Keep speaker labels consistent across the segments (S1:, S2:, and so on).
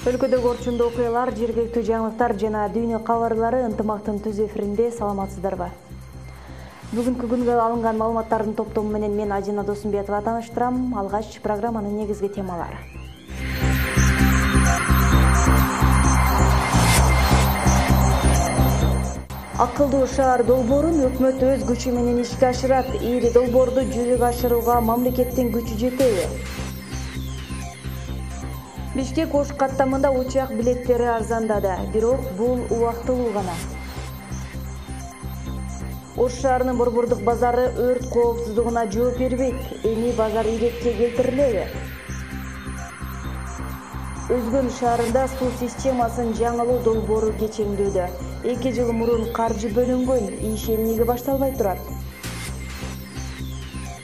S1: Өлкөдөгү орчундуу окуялар, жергиликтүү жаңылыктар жана дүйнө кабарлары ынтымактын түз эфиринде. Саламатсыздарбы? Бүгүнкү күнгө алынган маалыматтардын топтому менен мен Ажина Досумбетова тааныштырам. Алгач программанын негизги темалары. Акылдуу шаар долбоорун өкмөт өз күчү менен ишке ашырат. Ири долбоорду жүзөгө ашырууга мамлекеттин күчү жетеби? Бишкек Ош каттамында учак билеттери арзандады, бирок бул убактылуу гана. Ош шаарынын борбордук базары өрт коопсуздугуна жооп бербейт. Эми базар иретке келтирилеби? Өзгөн шаарында суу системасын жаңылоо долбоору кечеңдүүдө. 2 жыл мурун каржы бөлүнгөн, иш эмнеге башталбай турат?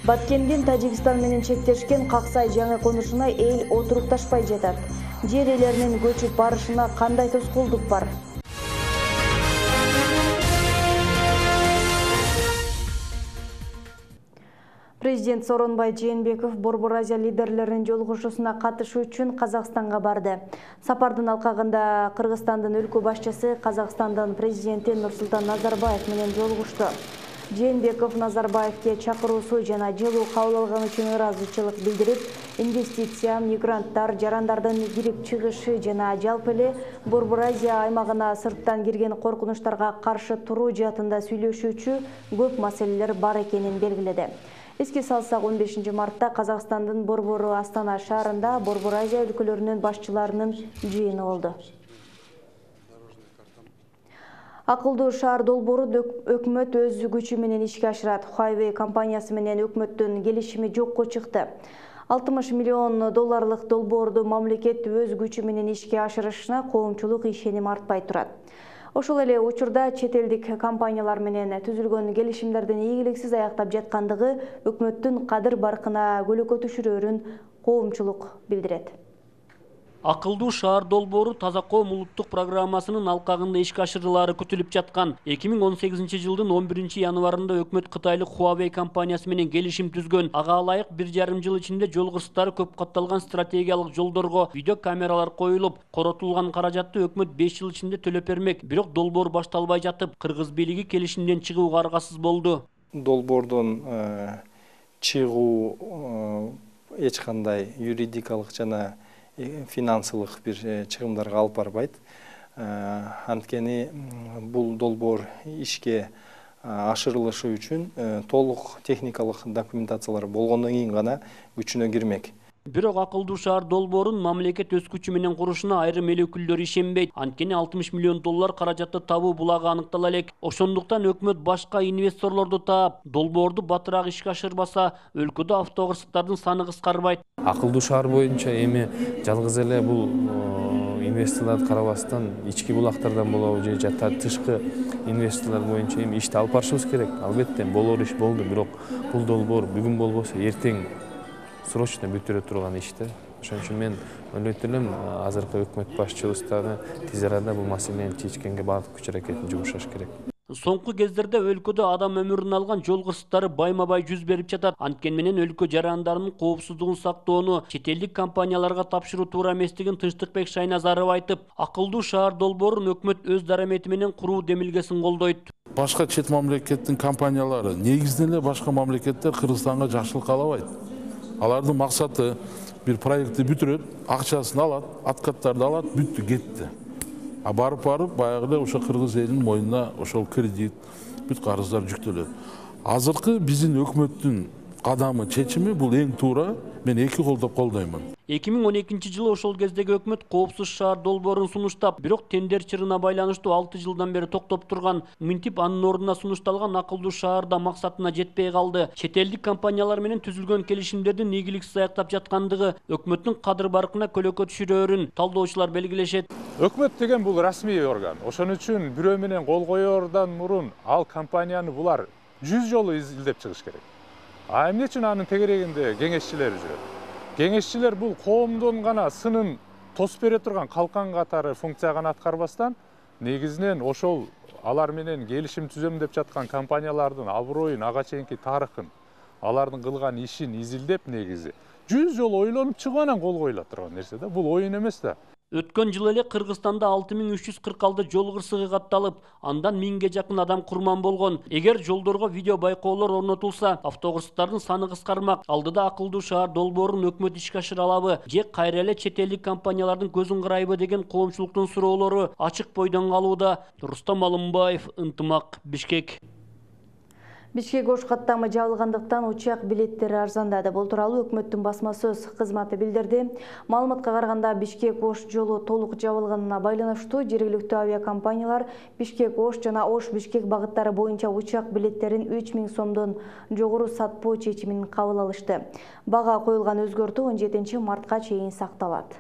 S1: Баткендин Тажикстан менен чектешкен Каксай жаңы конушуна эл отурукташпай жатат. Жер ээлеринин көчүп барышына кандай тоскоолдук бар? Президент Сооронбай Жээнбеков Борбор Азия лидерлеринин жолугушуусуна катышуу үчүн Казакстанга барды. Сапардын алкагында Кыргызстандын өлкө башчысы Казакстандын президенти Нурсултан Назарбаев менен жолугушту. Жээнбеков Назарбаевке чакыруусу жана жылуу кабыл алганы үчүн ыраазычылык билдирип, инвестиция, мигранттар, жарандардын кирип чыгышы жана жалпы эле Борбор Азия аймагына сырттан кирген коркунучтарга каршы туруу жаатында сүйлөшүүчү көп маселелер бар экенин белгиледи. Эске салсак, 15 мартта Казакстандын борбору Астана шаарында Борбор Азия өлкөлөрүнүн башчыларынын жыйыны болду. Акылдуу шаар долбоорун өкмөт өз күчү менен ишке ашырат. Huawei компаниясы менен өкмөттүн келишими жокко чыкты. $60 миллион долбоорду мамлекет өз күчү менен ишке ашырышына коомчулук ишеним артпай турат. Ошол эле учурда чет элдик компаниялар менен түзүлгөн келишимдердин ийгиликсиз аяктап жаткандыгы өкмөттүн кадыр баркына көлөкө түшүрөөрүн коомчулук билдирет.
S2: Акылдуу шаар долбоору Таза коом улуттук программасынын алкагында ишке ашырылаары күтүлүп жаткан. 2018 жылдын 11 январында өкмөт Кытайлык Huawei компаниясы менен келишим түзгөн. Ага ылайык 1,5 жыл ичинде жол кырсыктары көп катталган стратегиялык жолдорго видео камералар коюлуп, коротулган каражатты өкмөт 5 жыл ичинде төлөп бермек. Бирок долбоор башталбай жатып, кыргыз бийлиги келишимден чыгууга аргасыз болду.
S3: Долбоордон чыгуу эч кандай юридикалык жана финансылык бир чыгымдарга алып барбайт. Анткени бул долбоор ишке ашырылышы үчүн толук техникалык документациялар болгондон кийин гана күчүнө кирмек.
S2: Бирок акылдуу шаар долбоорун мамлекет өз күчү менен курушуна айрым эл өкүлдөрү ишенбейт. Анткени $60 миллион каражатты табуу булагы аныктала элек. Ошондуктан өкмөт башка инвесторлорду таап, долбоорду батыраак ишке ашырбаса, өлкөдө автокырсыктардын саны кыскарбайт.
S4: Акылдуу шаар боюнча эми жалгыз эле бул инвесторлорду карабастан ички булактардан болобу же тышкы инвесторлор боюнча эми ишти алып барышыбыз керек. Албетте болор иш болду, бирок бул долбоор бүгүн болбосо эртең срочно бүтүрө турган иште. Ошон үчүн мен ойлойт элем, азыркы өкмөт башчыбыз дагы тез арада бул маселени чечкенге бардык күч аракетин жумшаш керек.
S2: Соңку кездерде өлкөдө адам өмүрүн алган жол кырсыктары байма-бай жүз берип жатат. Анткени менен өлкө жарандарынын коопсуздугун сактоону чет элдик компанияларга тапшыруу туура эместигин Тынчтыкбек Шайназаров айтып, акылдуу шаар долбоорун өкмөт өз дарамети менен куруу демилгесин колдойт.
S5: Башка чет мамлекеттин компаниялары негизинен эле башка мамлекеттер Кыргызстанга жакшылык каалабайт. Алардын максаты бир проектти бүтүрөт, акчасын алат, откаттарды алат, бүттү, кетти. А барып баягы эле ошо кыргыз элинин мойнуна ошол кредит, бүт карыздар жүктөлөт. Азыркы биздин өкмөттүн кадамы, чечими бул эң туура, мен эки колдоп колдоймун.
S2: 2012 жылы ошол кездеги өкмөт коопсуз шаар долбоорун сунуштап, бирок тендер чырына байланыштуу 6 жылдан бери токтоп турган. Мынтип анын ордуна сунушталган акылдуу шаарда максатына жетпей калды. Чет элдик компаниялар менен түзүлгөн келишимдердин ийгиликсиз аяктап жаткандыгы өкмөттүн кадыр баркына көлөкө түшүрөөрүн талдоочулар белгилешет.
S6: Өкмөт деген бул расмий орган. Ошон үчүн бирөө менен кол коёрдан мурун ал компанияны булар 100 жолу изилдеп чыгыш керек. А эмне үчүн анын тегерегинде кеңешчилер жүрөт? Кеңешчилер бул коомдун гана сынын тосуп бере турган калкан катары функция гана аткарбастан, негизинен ошол алар менен келишим түзөм деп жаткан компаниялардын аброюн, ага чейинки тарыхын, алардын кылган ишин изилдеп негизи 100 жолу ойлонуп чыгып анан кол коюла турган нерсе да. Бул оюн эмес да.
S2: Өткөн жыл эле Кыргызстанда 6346 жол кырсыгы катталып, андан 1000ге жакын адам курман болгон. Эгер жолдорго видео байкоолор орнотулса, автокырсыктардын саны кыскармак. Алдыда акылдуу шаар долбоорун өкмөт ишке ашыра алабы же кайра эле чет элдик компаниялардын көзүн карайбы деген коомчулуктун суроолору ачык бойдон калууда. Рустам Алымбаев, Ынтымак, Бишкек.
S1: Бишкек Ош каттамы жабылгандыктан учак билеттери арзандады. Бул тууралуу өкмөттүн басма сөз кызматы билдирди. Маалыматка караганда Бишкек Ош жолу толук жабылганына байланыштуу жергиликтүү авиакомпаниялар Бишкек Ош жана Ош Бишкек багыттары боюнча учак билеттерин 3000 сомдон жогору сатпоо чечимин кабыл алышты. Бага коюлган өзгөртүү 17 мартка чейин сакталат.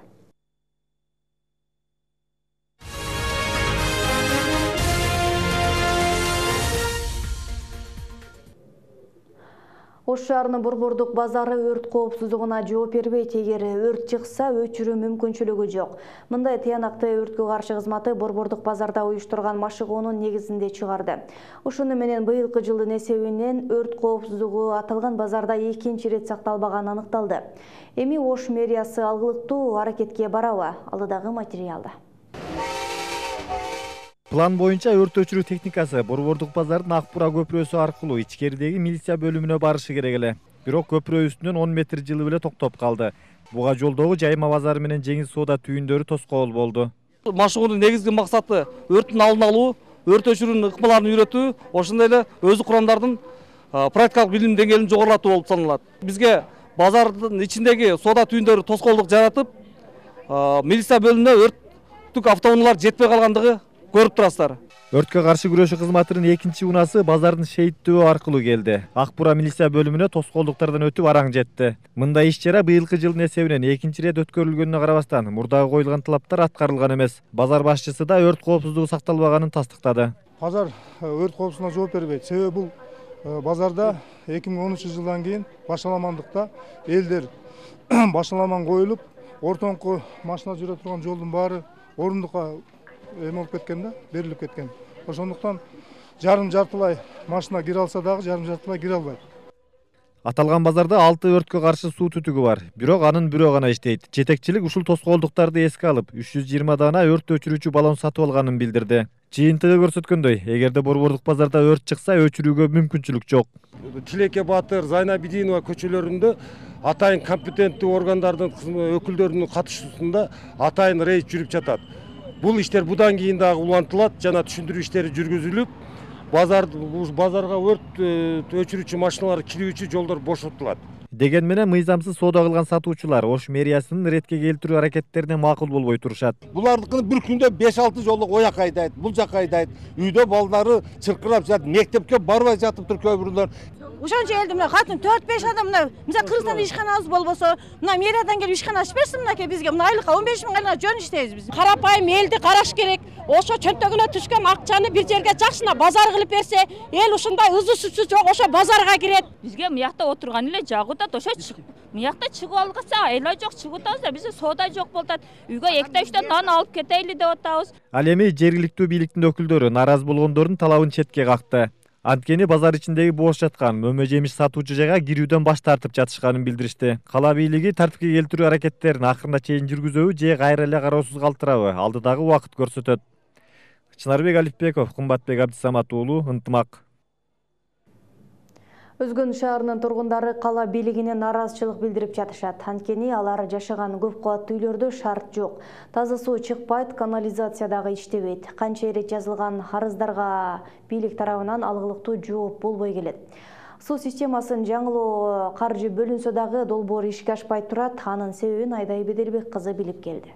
S1: Ош шаарынын Борбордук базары өрт коопсуздугуна жооп бербейт. Эгер өрт чыкса, өчүрүү мүмкүнчүлүгү жок. Мындай тыянакты өрткө каршы кызматы Борбордук базарда уюштурган машыгуунун негизинде чыгарды. Ошону менен быйылкы жылдын эсебинен өрт коопсуздугу аталган базарда экинчи рет сакталбаганы аныкталды. Эми Ош мэриясы алгылыктуу аракетке барабы? Алдыдагы материалда.
S7: План боюнча өрт өчүрүү техникасы Борбордук базардын Акбура көпүрөсү аркылуу ичкеридеги милиция бөлүмүнө барышы керек эле. Бирок көпүрө үстүнөн 10 метр жылы эле токтоп калды. Буга жолдогу Жайма базары менен Жеңиз соода түйүндөрү тоскоол болду.
S8: Машыгуунун негизги максаты өрттүн алдын алуу, өрт өчүрүүнүн ыкмаларын үйрөтүү, ошондой эле өзү курамдардын практикалык билим деңгээлин жогорулатуу болуп саналат. Бизге базардын ичиндеги соода түйүндөрү тоскоолдук жаратып, милиция бөлүмүнө өрттүк автоунаалар жетпей калгандыгы көрүп турасыздар.
S7: Өрткө каршы күрөшүү кызматынын экинчи унасы базардын шейиттөө аркылуу келди. Акбура милиция бөлүмүнө тоскоолдуктардан өтүп араң жетти. Мындай иш-чара быйылкы жылдын эсебинен экинчи рет өткөрүлгөнүнө карабастан, мурдагы коюлган талаптар аткарылган эмес. Базар башчысы да өрт коопсуздугу сакталбаганын тастыктады.
S9: Базар өрт коопсуздугуна жооп бербейт. Себеби бул базарда 2013 жылдан кийин башаламандыкта элдер башаламан коюлуп, ортоңку машина жүрө турган жолдун баары орундукка эме болуп кеткен да, берилип кеткен. Ошондуктан жарым-жартылай машина кире алса дагы жарым-жартылай кире албайт.
S7: Аталган базарда 6 өрткө каршы суу түтүгү бар. Бирок анын бирөө гана иштейт. Жетекчилик ушул тоскоолдуктарды эске алып, 320 дана өрт өчүрүүчү баллон сатып алганын билдирди. Жыйынтыгы көрсөткөндөй, эгерде Борбордук базарда өрт чыкса, өчүрүүгө мүмкүнчүлүк жок.
S10: Тилеке Батыр, Зайнабидинова көчөлөрүндө атайын компетенттүү органдардын өкүлдөрүнүн катышуусунда атайын рейд жүрүп жатат. Бул иштер будан кийин дагы улантылат жана түшүндүрүү иштери жүргүзүлүп, базарга өрт өчүрүүчү машиналар кирүүчү жолдор бошотулат.
S7: Деген менен мыйзамсыз соода кылган сатуучулар Ош мэриясынын ретке келтирүү аракеттерине макул болбой турушат.
S10: Булардыкын bir күндө 5-6 жолу ояк айдайт, бул жака айдайт. Үйдө балдары чыркырап жатат, мектепке барбай жатып тур көбүрлөр.
S11: Ошончо элди мына катын 4-5 адам мына мисалы Кыргызстанда ишканабыз болбосо, мына мэриядан келип ишкана ачып берсин мынакей бизге. Мына айлыкка 15 миң гана жөн иштейбиз биз.
S12: Карапайым элди караш керек. Ошо чөнтөгүнө түшкөн акчаны бир жерге жакшына базар кылып берсе, эл ушундай ызы сүтсү жок ошо базарга кирет.
S13: Бизге мыякта отурган эле жагуудат, ошо мыякта чыгып алгаса, айла жок чыгып атабыз да, бизде соода жок болот. Үйгө 2-3 нан алып кетейли деп атабыз.
S7: Ал эми жергиликтүү бийликтин өкүлдөрү нааразы болгондордун талабын четке какты. Анткени базар ичиндеги бош жаткан мөмө жемиш сатуучу жайга кирүүдөн баш тартып жатышканын билдиришти. Кала бийлиги тартипке келтирүү аракеттерин акырына чейин жүргүзөбү же кайра эле кароосуз калтырабы, алдыдагы убакыт көрсөтөт. Чынарбек Алипбеков, Кымбатбек Абдисамат уулу, Ынтымак.
S1: Өзгөн шаарынын тургундары кала бийлигине нааразычылык билдирип жатышат. Анткени алар жашаган көп кабаттуу үйлөрдө шарт жок. Таза суу чыкпайт, канализация дагы иштебейт. Канча ирет жазылган арыздарга бийлик тарабынан алгылыктуу жооп болбой келет. Суу системасын жаңылоо каржы бөлүнсө дагы долбоор ишке ашпай турат. Анын себебин Айдай Беделбек кызы билип келди.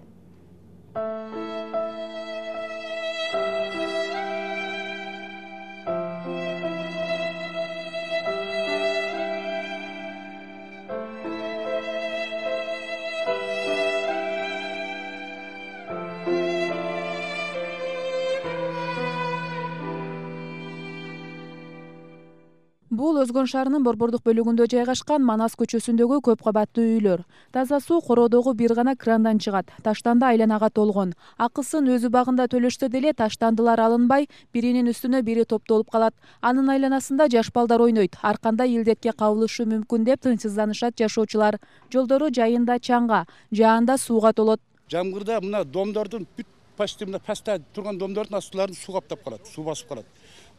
S14: Бул Өзгөн шаарынын Борбордук бөлүгүндө жайгашкан Манас көчөсүндөгү көп кабаттуу үйлөр. Таза суу короодогу бир гана крандан чыгат. Таштанды айланага толгон. Акысын өзү багында төлөштө деле таштандылар алынбай, биринин үстүнө бири топтолуп калат. Анын айланасында жаш балдар ойнойт. Ар кандай илдетке кабылышы мүмкүн деп тынчсызданышат жашоочулар. Жолдору жайында чаңга, жаанда сууга толот.
S15: Жамгырда мына домдордун бүт почти мына паста турган домдордун астыларын суу каптап калат, суу басып калат.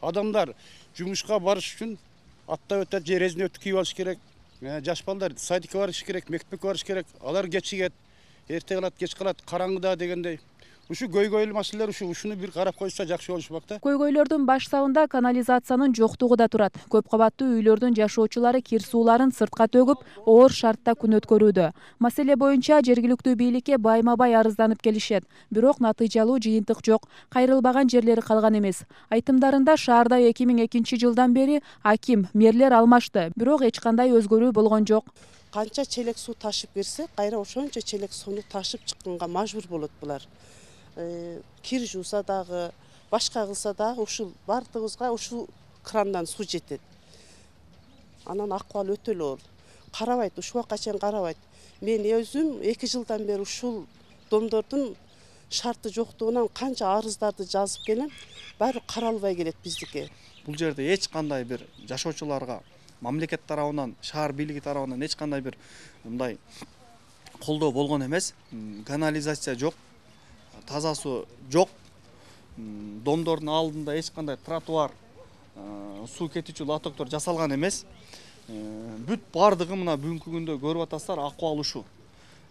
S15: Адамдар жумушка барыш үчүн аттап өтөт, же резинөттү кийип алыш керек. Жаш балдар садикке барыш керек, мектепке барыш керек. Алар кечигет, эрте калат, кеч калат, караңгыда дегендей. Ушу көйгөйлүү маселелер ушуну бир карап койсо жакшы болушмак да.
S14: Көйгөйлөрдүн баш сабында канализациянын жоктугу да турат. Көп кабаттуу үйлөрдүн жашоочулары кир сууларын сыртка төгүп, оор шартта күн өткөрүүдө. Маселе боюнча жергиликтүү бийликке байма-бай арызданып келишет. Бирок натыйжалуу жыйынтык жок, кайрылбаган жерлери калган эмес. Айтымдарында шаарда 2002-жылдан бери аким, мэрлер алмашты, бирок эч кандай өзгөрүү болгон жок.
S16: Канча челек суу ташып кирсе, кайра ошончо челек сууну ташып чыкканга мажбур болот булар. Кир жууса дагы, башка кылса дагы ушул бардыгыбызга ушул крандан суу жетет. Анан акыбал өтө эле оор. Карабайт, ушул убакка чейин карабайт. Мен өзүм 2 жылдан бери ушул домдордун шарты жоктугунан канча арыздарды жазып келем, баары каралбай келет биздики.
S17: Бул жерде эч кандай бир жашоочуларга мамлекет тарабынан, шаар бийлиги тарабынан эч кандай бир мындай колдоо болгон эмес. Канализация жок, таза суу жок. Домдордун алдында эч кандай тротуар, суу кетүүчү лотоктор жасалган эмес. Бүт бардыгы мына бүгүнкү күндө көрүп атасыздар, акыбал ушул.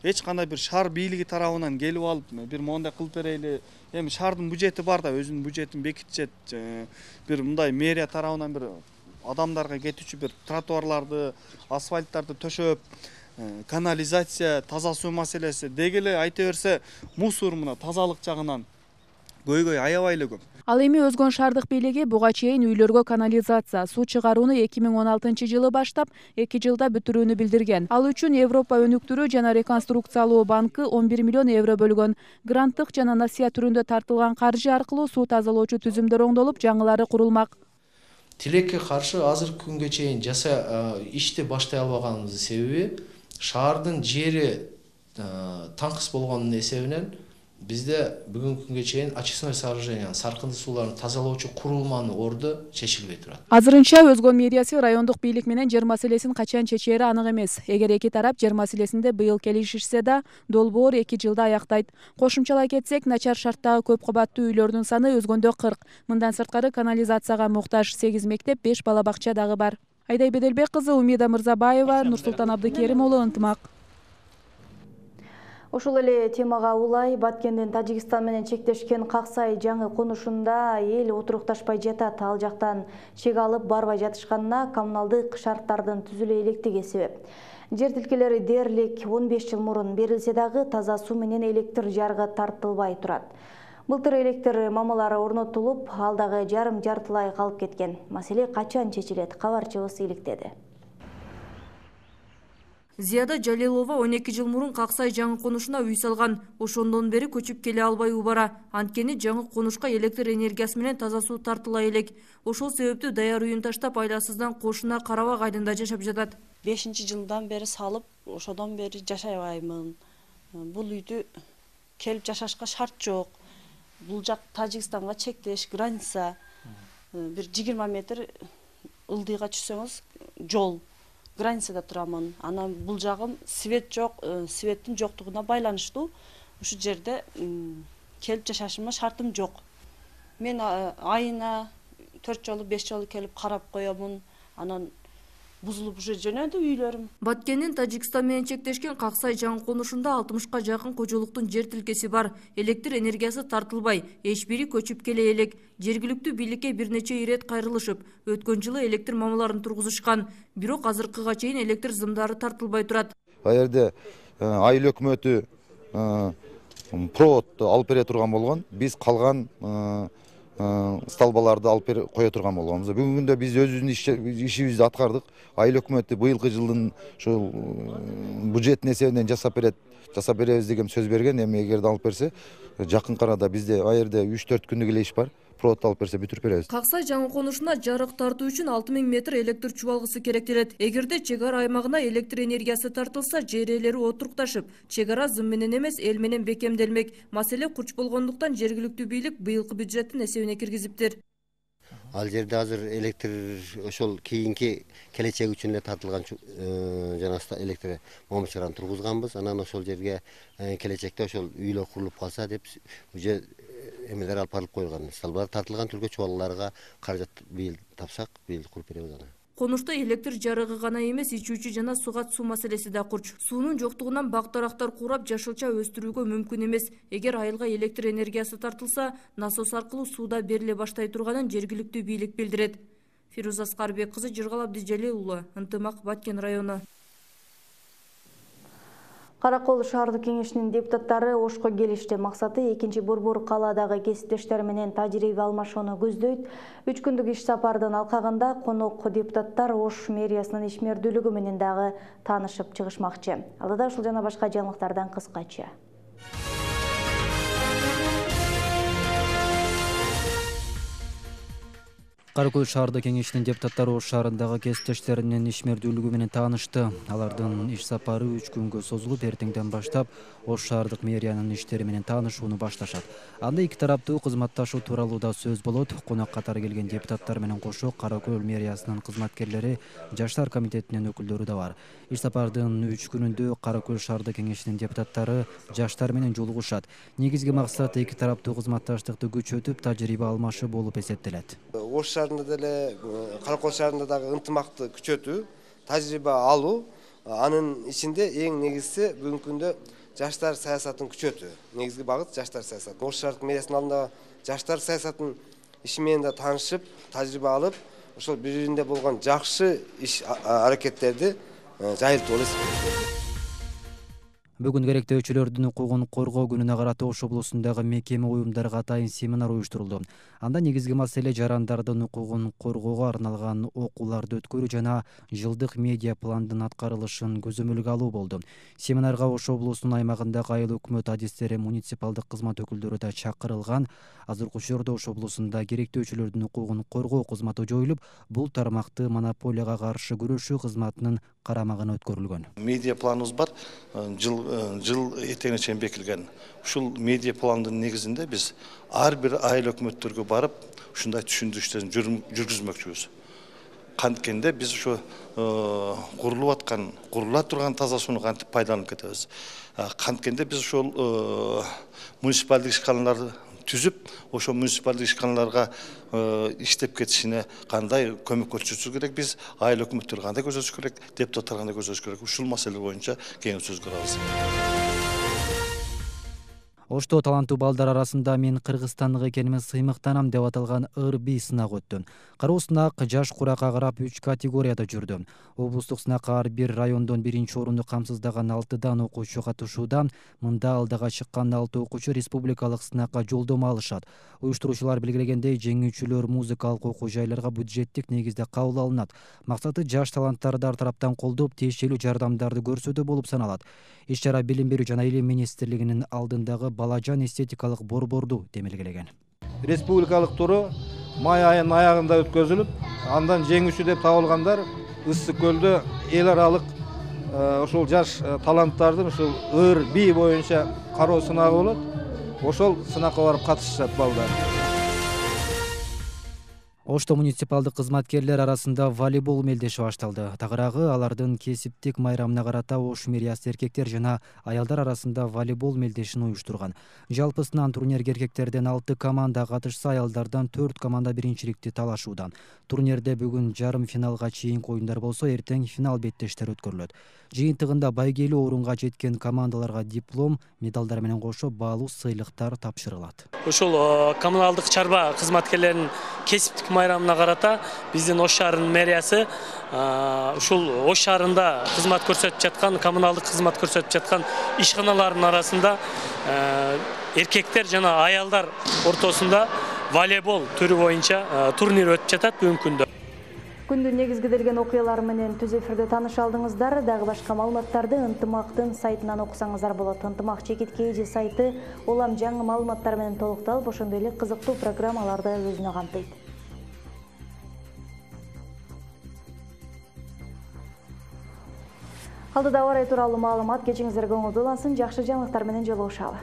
S17: Эч кандай бир шаар бийлиги тарабынан келип алып, бир мондай кылып берели. Эми шаардын бюджети бар да, өзүнүн бюджетин бекитишет. Бир мындай мэрия тарабынан бир адамдарга кетүүчү бир тротуарларды, асфальттарды төшөп, канализация, таза суу маселеси деги эле айта берсе, мусор мына тазалык жагынан көйгөй аябай эле көп.
S14: Ал эми Өзгөн шаардык бийлиги буга чейин үйлөргө канализация, суу чыгарууну 2016-жылы баштап, 2 жылда бүтүрүүнү билдирген. Ал үчүн Европа өнүктүрүү жана реконструкциялоо банкы 11 миллион евро бөлгөн. Гранттык жана насыя түрүндө тартылган каржы аркылуу суу тазалоочу түзүмдөр оңдолуп, жаңылары курулмак.
S18: Тилекке каршы азыркы күнгө чейин ишти баштай албаганыбыздын себеби шаардын жери таңкыс болгонун эсебинен бизде бүгүнкү күнгө чейин очистное сооружение, саркынды сууларын тазалоочу курулманын орду чечилбей турат.
S14: Азырынча Өзгөн мэриясы райондук бийлик менен жер маселесин качан чечери анык эмес. Эгер эки тарап жер маселесинде быйыл келишишсе да, долбоор 2 жылда аяктайт. Кошумчалай кетсек, начар шарттагы көп кабаттуу үйлөрдүн саны Өзгөндө 40. Мындан сырткары канализацияга муктаж 8 мектеп, 5 бала бакча дагы бар. Айдай Беделбек кызы, Умида Мырзабаева, Нурсултан Абдыкерим уулу, Ынтымак.
S1: Ушул эле темага улай Баткендин Тажикстан менен чектешкен Каксай жаңы конушунда эл отурукташпай жатат. Ал жактан чек алып барбай жатышканына коммуналдык шарттардын түзүлө электиги себеп. Жер тилкелери дээрлик 15 жыл мурун берилсе дагы таза суу менен электр жарыгы тартылбай турат. Былтыр электр мамалары орнотулуп, ал дагы жарым-жартылай калып кеткен. Маселе качан чечилет? Кабарчыбыз иликтеди.
S19: Зияда Жалилова 12 жыл мурун Каксай жаңы конушуна үй салган. Ошондон бери көчүп келе албай убара. Анткени жаңы конушка электр энергиясы менен таза суу тартыла элек. Ошол себептүү даяр үйүн таштап айласыздан кошуна Карабак айдында жашап жатат.
S20: 5-жылдан бери салып, ошодон бери жашабаймын. Бул үйдү келип жашашка шарт жок. Бул жак Тажикстанга чектеш, граница. Бир 20 метр ылдыйга түшсөңүз жол. Границада турамын. Анан бул жагым свет жок, светтин жоктугуна байланыштуу. Ушу жерде келип жашашыма шартым жок. Мен айына 4 жолу, 5 жолу келип карап коёмун. Анан бузулуп уже жөнөдү үйлөрүм.
S19: Баткендин Тажикстан менен чектешкен Каксай жаңы конушунда 60-ка жакын кожолуктун жер тилкеси бар. Электр энергиясы тартылбай, эч бири көчүп келе элек. Жергиликтүү бийликке бир нече ирет кайрылышып, өткөн жылы электр мамаларын тургузушкан. Бирок азыркыга чейин электр зымдары тартылбай турат.
S21: Ал жерде айыл өкмөтү проводду алып бере турган болгон. Биз калган столбаларды алып кое турган болгонбуз. Бүгүнкү күндө биз өзүбүздүн ишибизди аткардык. Айыл өкмөтү быйылкы жылдын ушул бюджеттин эсебинен жасап беребиз деген сөз берген. Эми эгерде алып берсе, жакын арада бизде ал жерде 3-4 күндүк эле иш бар. провод алып берсе бүтүрүп беребиз.
S19: Каксай жаңы конушуна жарык тартуу үчүн 6000 метр электр чубалгысы керектелет. Эгерде чек ара аймагына электр энергиясы тартылса, жер ээлери отурукташып, чек ара зым менен эмес, эл менен бекемделмек. Маселе курч болгондуктан жергиликтүү бийлик быйылкы бюджеттин эсебине киргизиптир.
S3: Ал жерде азыр электр ошол кийинки келечек үчүн эле тартылган жана электр момчураны тургузганбыз. Анан ошол жерге келечекте ошол үйлөр курулуп калса деп уже эмелер алып барылып коюлган. Салбар тартылган түргө чубалгыларга каражат быйыл тапсак, быйыл куруп беребиз аны.
S19: Конушта электр жарыгы гана эмес, ичүүчү жана суга суу маселеси да курч. Суунун жоктугунан бак-дарактар курап жашылча өстүрүүгө мүмкүн эмес. Эгер айылга электр энергиясы тартылса, насос аркылуу сууда бериле баштай турганын жергиликтүү бийлик билдирет. Фируза Аскарбек кызы, Жыргал Абдижалил уулу, Ынтымак, Баткен району.
S1: Каракол шаардык кеңешинин депутаттары Ошко келишти. Максаты экинчи борбор калаадагы кесиптештер менен тажрыйба алмашууну көздөйт. 3 күндүк иш сапардын алкагында конок депутаттар Ош мэриясынын ишмердүүлүгү менен дагы таанышып чыгышмакчы. Алда ушул жана башка жаңылыктардан кыскача.
S22: Каракөл шаардык кеңешинин депутаттары Ош шаарындагы кесиптештеринин ишмердүүлүгү менен таанышты. Алардын иш сапары 3 күнгө созулуп, эртеңден баштап Ош шаардык мэриянын иштери менен таанышууну башташат. Анда эки тараптуу кызматташуу тууралуу да сөз болот. Конок катары келген депутаттар менен кошо Каракөл мэриясынын кызматкерлери, жаштар комитетинин өкүлдөрү да бар. Иш сапардын 3 күнүндө Каракөл шаардык кеңешинин депутаттары жаштар менен жолугушат. Негизги максат эки тараптуу кызматташтыкты күчөтүп, тажрыйба алмашуу болуп эсептелет.
S23: Ош шаарында деле, Каракөл шаарында дагы ынтымакты күчөтүү, тажрыйба алуу, анын ичинде эң негизгиси бүгүнкү күндө жаштар саясатын күчөтүү. Негизги багыт жаштар саясаты. Ош шаардык мэриясынын алдында жаштар саясатынын иши менен да таанышып, тажрыйба алып, ошол бири-биринде болгон жакшы иш аракеттерди жайылтып алабыз.
S22: Бүгүн керектөөчүлөрдүн укугун коргоо күнүнө карата Ош облусундагы мекеме уюмдарга атайын семинар уюштурулду. Анда негизги маселе жарандардын укугун коргоого арналган окууларды өткөрүү жана жылдык медиа пландын аткарылышын көзөмөлгө алуу болду. Семинарга Ош облусунун аймагындагы айыл өкмөт адистери, муниципалдык кызмат өкүлдөрү да чакырылган. Азыркы учурда Ош облусунда керектөөчүлөрдүн укугун коргоо кызматы жоюлуп, бул тармакты монополияга каршы күрөшүү кызматынын карамагына өткөрүлгөн.
S24: Медиа планыбыз бар, жыл этеңине чейин бекилген. Ушул медиа пландын негизинде биз ар бир айыл өкмөттөргө барып, ушундай түшүндүрүштөрүн жүргүзмөкчүбүз. Канткенде биз ушу курула турган таза сууну кантип пайдаланып кетебиз. Канткенде биз ошол муниципалдык ишканаларды түзүп, ошо муниципалдык ишканаларга иштеп кетишине кандай көмөк көрсөтүш керек, биз айыл өкмөттөр кандай көзөтүш керек, депутаттар кандай көзөтүш керек, ушул маселе боюнча кеңеш сөз кылабыз.
S22: Ошто таланттуу балдар арасында мен кыргызстандык экениме сыймыктанам деп аталган ыр-би сынак өттү. Кароо сынак жаш куракка карап 3 категорияда жүрдү. Облустук сынакка ар бир райондон 1-чи орунду камсыздаган 6 окуучу катышууда. Мында алдыга чыккан 6 окуучу республикалык сынакка жолдомо алышат. Уюштуруучулар белгилегендей, жеңүүчүлөр музыкалык окуу жайларга бюджеттик негизде кабыл алынат. Максаты жаш таланттарды ар тараптан колдоп, тиешелүү жардамдарды көрсөтүү болуп саналат. Иш-чара Билим берүү жана Илим министрлигинин алдындагы балажан эстетикалык борборду демелгелеген.
S9: Республикалык туру май айынын аягында өткөзүлүп, андан жеңүүчү деп табылгандар Ысык көлдө эл аралык ошол жаш таланттардын ушул ыр-би боюнча кароо сынагы болот. Ошол сынакка барып катышышат балдар.
S22: Ошто муниципалдык кызматкерлер арасында волейбол мелдеши башталды. Тагыраагы алардын кесиптик майрамына карата Ош мэриясы эркектер жана аялдар арасында волейбол мелдешин уюштурган. Жалпысынан турнирге эркектерден 6 команда катышса, аялдардан 4 команда биринчиликти талашууда. Турнирде бүгүн жарым финалга чейинки оюндар болсо, эртең финал беттештер өткөрүлөт. Жыйынтыгында байгелүү орунга жеткен командаларга диплом, медалдар менен кошо баалуу сыйлыктар тапшырылат.
S25: Ошол коммуналдык чарба кызматкерлеринин кесиптик майрамына карата биздин Ош шаарынын мэриясы ушул Ош шаарында кызмат көрсөтүп жаткан, коммуналдык кызмат көрсөтүп жаткан ишканалардын арасында эркектер жана аялдар ортосунда волейбол түрү боюнча турнир өтүп жатат бүгүнкү күндө.
S1: Күндүн негизгиделген окуялары менен түз эфирде тааныша алдыңыздар. Дагы башка маалыматтарды Ынтымактын сайтынан окусаңыздар болот. Ынтымак ЧКТ сайты улам жаңы маалыматтар менен толукталып, ошондой эле кызыктуу программаларды өзүнө камтыйт. Алдыда ауа райы тууралуу маалымат, кечиңиздерге оңолдуулансын, жакшы жаңылыктар менен жолугушалы.